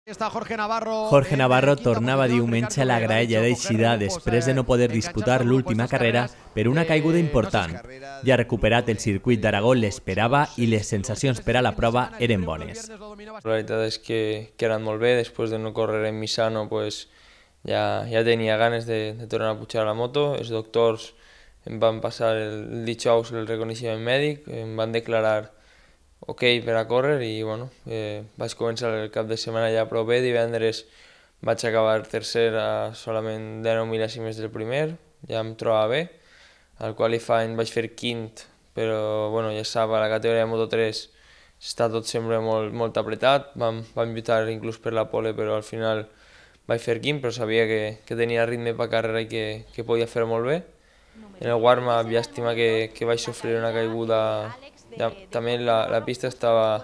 Jorge Navarro tornava diumenge a la graella d'eixida després de no poder disputar l'última carrera per una caiguda important. Ja recuperat el circuit d'Aragó l'esperava i les sensacions per a la prova eren bones. La veritat és que he anat molt bé, després de no córrer en Misano ja tenia ganes de tornar a pujar a la moto. Els doctors em van passar el dijous el reconeixement mèdic, em van declarar ok per a córrer i vaig començar el cap de setmana ja prou bé. Divendres vaig acabar tercer a solament 19 mil·lèsimes del primer, ja em trobava bé. Al qualifying vaig fer quint, però ja sap, a la categoria de Moto3 està tot sempre molt apretat. Vam lluitar inclús per la pole, però al final vaig fer quint, però sabia que tenia ritme per carrera i que podia fer molt bé. En el warm-up llàstima que vaig sofrir una caiguda. També la pista estava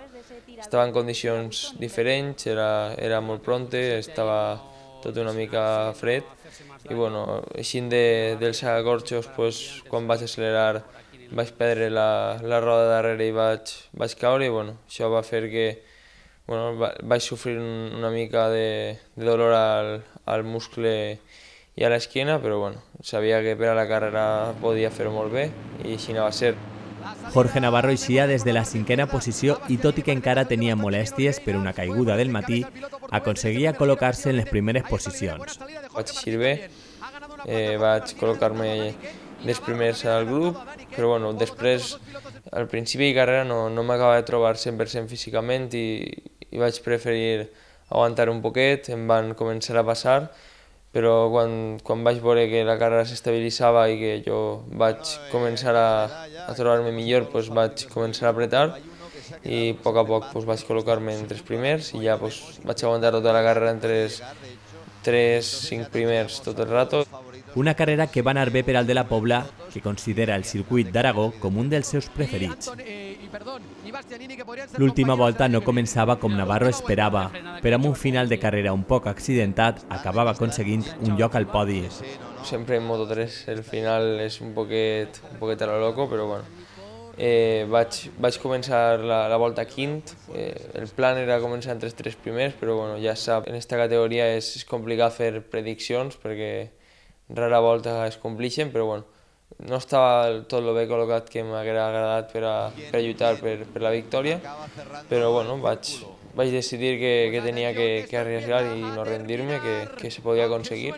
en condicions diferents, era molt pronta, estava tot una mica fred i eixint dels acorxos, quan vaig accelerar vaig perdre la roda darrere i vaig caure i això va fer que vaig sofrir una mica de dolor al muscle i a l'esquena, però sabia que per a la carrera podia fer molt bé i així va ser. Jorge Navarro eixia des de la cinquena posició i tot i que encara tenia molèsties per una caiguda del matí, aconseguia col·locar-se en les primeres posicions. Vaig eixir bé, vaig col·locar-me dels primers al grup, però després, al principi de carrera no m'acabava de trobar 100% físicament i vaig preferir aguantar un poquet, em van començar a passar, però quan vaig veure que la carrera s'estabilitzava i que jo vaig començar a trobar-me millor, vaig començar a apretar i a poc vaig col·locar-me entre els primers i ja vaig aguantar tota la carrera entre els 3-5 primers tot el rato. Una carrera que va anar bé per al de la Pobla, que considera el circuit d'Aragó com un dels seus preferits. L'última volta no començava com Navarro esperava, però amb un final de carrera un poc accidentat acabava aconseguint un lloc al podi. Sempre en Moto3 el final és un poquet a lo loco, però vaig començar la volta quint. El plan era començar entre els 3 primers, però ja sap, en aquesta categoria és complicat fer prediccions perquè rara volta es complixen, però no estava tot el bé col·locat que m'hauria agradat per a lluitar per la victòria, però vaig decidir que tenia que arriesgar i no rendir-me, que se podia aconseguir.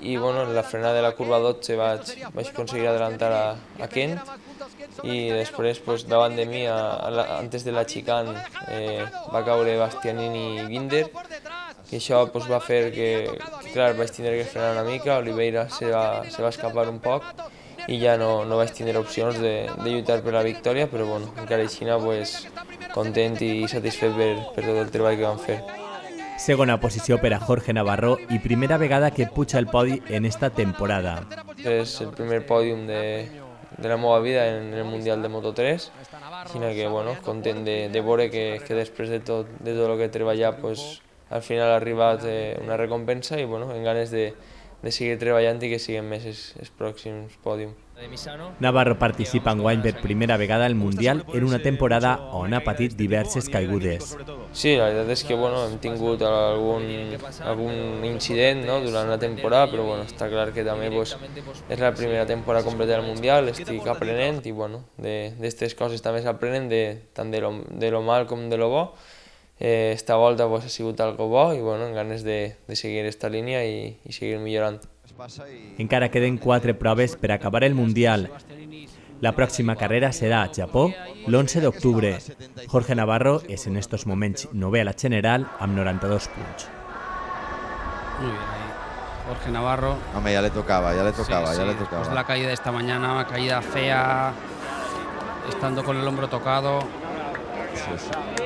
I en la frenada de la curva 12 vaig aconseguir adelantar a Kent i després davant de mi, antes de la chicane, va caure Bastianini i Binder i això va fer que vaig tindre que frenar una mica. Oliveira se va escapar un poc i ja no vaig tindre opcions de lluitar per la victòria, però encara així content i satisfet per tot el treball que vam fer. Segona posició per a Jorge Navarro i primera vegada que puja el podi en esta temporada. És el primer pòdium de la meva vida en el Mundial de Moto3, així que content de veure que després de tot el que he treballat al final ha arribat una recompensa i amb ganes de seguir treballant i que siguin més els pròxims pòdiums. Navarro participa enguany per primera vegada al Mundial en una temporada on ha patit diverses caigudes. Sí, la veritat és que hem tingut algun incident durant la temporada, però està clar que també és la primera temporada completa del Mundial, estic aprenent i d'aquestes coses també s'aprenen tant de lo mal com de lo bo. Esta volta ha sigut algo bo i amb ganes de seguir aquesta línia i seguir millorant. Encara queden 4 proves per acabar el Mundial. La pròxima carrera serà a Japó l'11 d'octubre. Jorge Navarro és en estos moments 9è a la general amb 92 punts. Muy bien ahí. Jorge Navarro. Hombre, ya le tocaba. Pues la caída de esta mañana, una caída fea, estando con el hombro tocado. Sí.